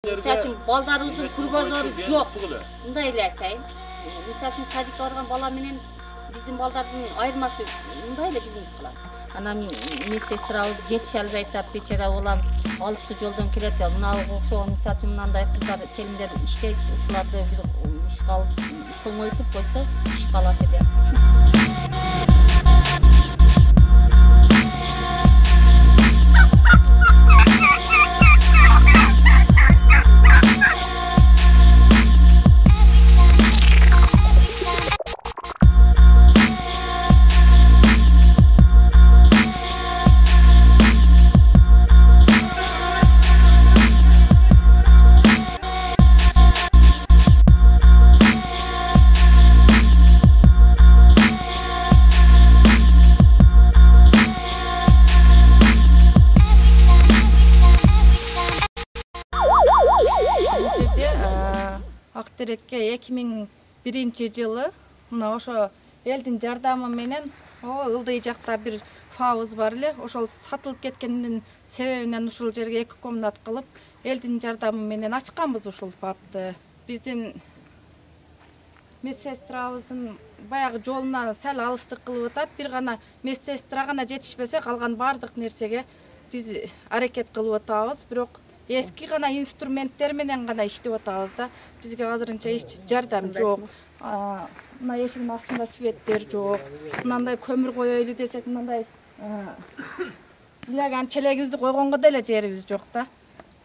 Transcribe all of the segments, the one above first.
Misal üçün baldarımızın kurgozları yok. Bunda ele aytayım. Misal üçün sadikka bargan bala menen bizim baldardın ayırması bunda ele bizim kılar. Anam medсестрабыз жетише албай атат, бечара улам алыскы жолдон келет. Мына окшогон мисал үчүн мындай кыздар келиндер иштейт, ушуларды бир ишке алып соңойтуп койсо иш калат эле. Актерекке 2001-жылы мына ошо элдин жардамы менен ылдый жакта бир фабыз бар эле. Ошол сатылып кеткендин себебинен ушул жерге 2 комнат кылып, элдин жардамы менен ачканбыз ушул фабды. Биздин медсестрабыздын баягы жолуна сал алыстык кылып атат. Бир гана медсестра гана жетишпесе, калган бардык нерсеге биз аракет кылып атабыз. Бирок эски гана инструменттер менен гана иштеп атабыз да. Бизге азырынча эч жардам жок. Мына эшиктин астында светтер жок. Мындай көмүр коёйлу десек, мындай илаган челегибизди койгонго деле жерибиз жок да.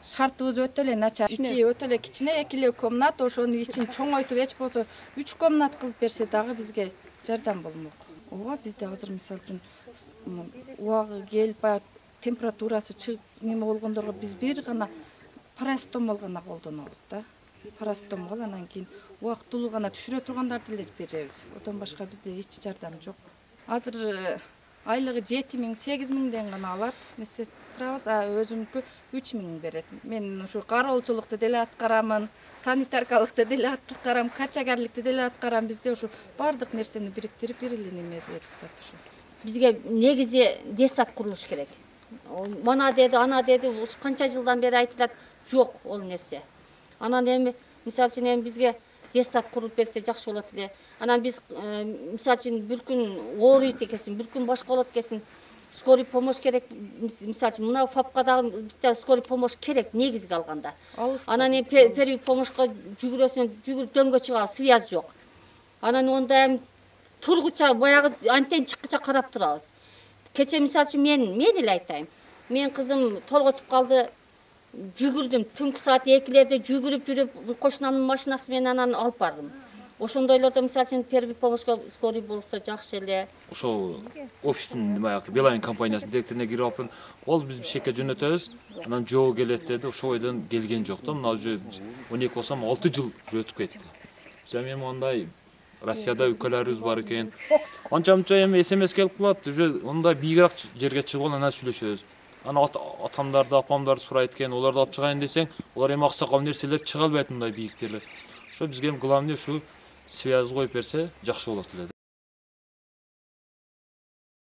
Шартыбыз өтө эле начар. Ичи өтө эле кичине, 2 комнат, ошонун ичин чоңойтуп эч болсо 3 комнат кылып берсе дагы бизге жардам болмок. Ооба, бизде азыр мисал үчүн убагы келип баягы температурасы чыгып неме болгондорго биз бир гана парастомол гана колдонобуз да. Парастомол, анан кийин убактылуу гана түшүрө тургандарды эле беребиз. Одан башка бизде эч жардам жок. Азыр айлыгы 7.000–8.000ден гана алат медсестрабыз, өзүмүнкү 3.000 берет. Мен ушу кароолчулукту деле аткарамын, санитаркалыкты деле аткарам, качагарлыкты деле аткарам. Бизде ушу бардык нерсени бириктирип бир эле неме берип атат ушу. Бизге негизи детсад курулуш керек. Мана деди, ана деди, канча жылдан бери айтылат, жок ол нерсе. Анан эми мисал үчүн эми бизге детсад курулуп берсе жакшы болот эле. Анан биз мисал үчүн бир күн ооруйт экенсиң, бир күн башка болот экенсиң, скорый помощь керек. Мисал үчүн мына фапка дагы битте скорый помощь керек негизги алганда. Анан эми первый помощька жүгүрөсүң, жүгүрүп дөңгө чыга, связь жок. Анан онда эми тургуча баягы антен чыккыча карап турабыз. Кече мисал үчүн мен эле айтайын. Мен кызым толготуп калды, жүгүрдүм. Түнкү саат 2-лерде жүгүрүп жүрүп, кошунамдын машинасы менен анан алып бардым. Ошондойлордо мисал үчүн первый помощька скорый болсо жакшы эле. Ошол офистин баягы Билайн компаниясынын директоруна кирип алып, ол биз бишкекке жөнөтөбүз. Анан жоо келет деди. Ошол бойдон келген жок да. Мына уже 12 болсом 6 жыл өтүп кетти. Мен мындай Россияда өлкөлөрүбүз бар экен. Анча-мынча эми СМС келип калат, уже мындай бийигирээк жерге чыгып анан сүйлөшөбүз. Ана атамдарды, апамдарды сурайт экен, оларды алып чыгайын десең, олар эми аксакал нерселер чыга албайт мындай бийиктерлер. Ошо бизге эми главный ушу связь коюп берсе жакшы болот эле да.